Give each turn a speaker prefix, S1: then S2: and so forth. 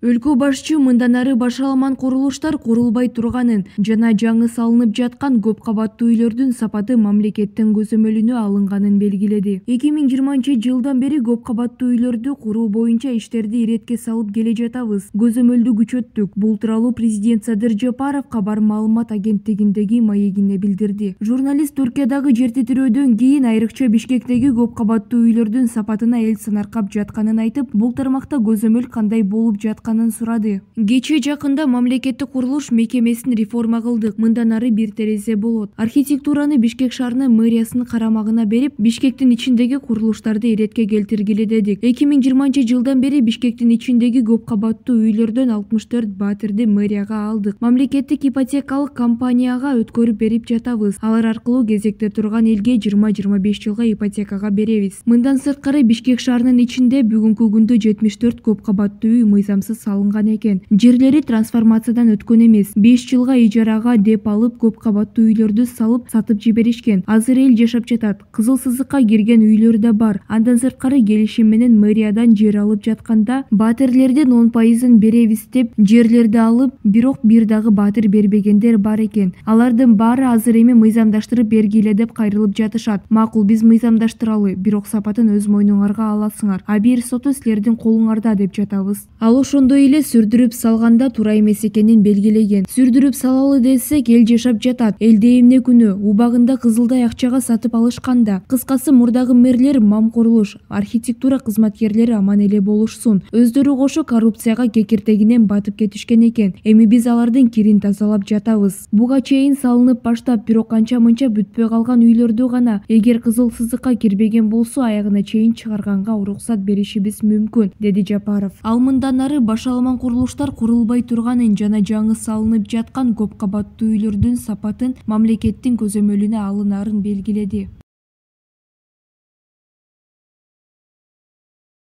S1: Өлкө башчы мындан ары башаламан курулуштар курулбай турганын жана жаңы салынып жаткан көп кабаттуу үйлөрдүн сапаты мамлекеттин көзөмөлүнө алынганын белгиледи. 2020-жылдан бери көп кабаттуу үйлөрдү куруу боюнча иштерди иретке салып келе жатабыз. Көзөмөлдү күчөттүк. Бул тууралуу президент Садыр Жапаров кабар маалымат агенттигиндеги маегинде билдирди. Журналист Түркиядагы жер титирөөдөн кийин айрыкча Бишкектеги көп кабаттуу үйлөрдүн сапатына эл сынаркап жатканын айтып, бул тармакта көзөмөл кандай болуп жатканын сурады. Кечээ жакында мамлекеттик курулуш мекемесин реформа кылдык. Мындан ары бир терезе болот. Архитектураны Бишкек шаарынын мэриясынын карамагына берип, Бишкектин ичиндеги курулуштарды иретке келтиргиле дедик. 2020-жылдан бери Бишкектин ичиндеги көп кабаттуу үйлөрдөн 64 батирди мэрияга алдык. Мамлекеттик ипотекалык компанияга өткөрүп берип жатабыз. Алар аркылуу кезекте турган элге 20-25 жылга ипотекага беребиз. Мындан сырткары Бишкек шаарынын ичинде бүгүнкү күндө 74 көп кабаттуу үй мыйзамсыз салынган экен. Жерлери трансформациядан өткөн эмес. 5 жылга ижарага деп алып, көп кабаттуу үйлөрдү салып сатып жиберишкен. Азыр эл жашап жатат. Кызыл сызыкка кирген үйлөр да бар. Андан сырткары келишим менен мэриядан жер алып жатканда батирлердин 10% беребиз деп жерлерди алып, бирок бир дагы батир бербегендер бар экен. Алардын баары азыр эми мыйзамдаштырып бергиле деп кайрылып жатышат. Макул, биз мыйзамдаштыралы, бирок сапатын өз мойнуңарга аласыңар. Бир соту силердин колуңарда деп жатабыз. Ал ошондой эле сүрдүрүп салганда туура эмес экенин белгилеген. Сүрдүрүп салалы десек, эл жашап жатат. Элде эмне күнөө? Убагында кызылдай акчага сатып алышканда. Кыскасы, мурдагы мэрлер мамкурулуш, архитектура кызматкерлери аман эле болушсун. Өздөрү кошо коррупцияга кекиртегинен батып кетишкен экен. Эми биз алардын кирин тазалап жатабыз. Буга чейин салынып баштап, бирок анча-мынча бүтпөй калган үйлөрдү гана эгер кызыл сызыкка кирбеген болсо, аягына чейин чыгарганга уруксат беришибиз мүмкүн, деди Жапаров. Ал мындан ары башаламан курулуштар курулбай турганын жана жаңы салынып жаткан көп кабаттуу үйлөрдүн сапатын мамлекеттин көзөмөлүнө алынаарын белгиледи.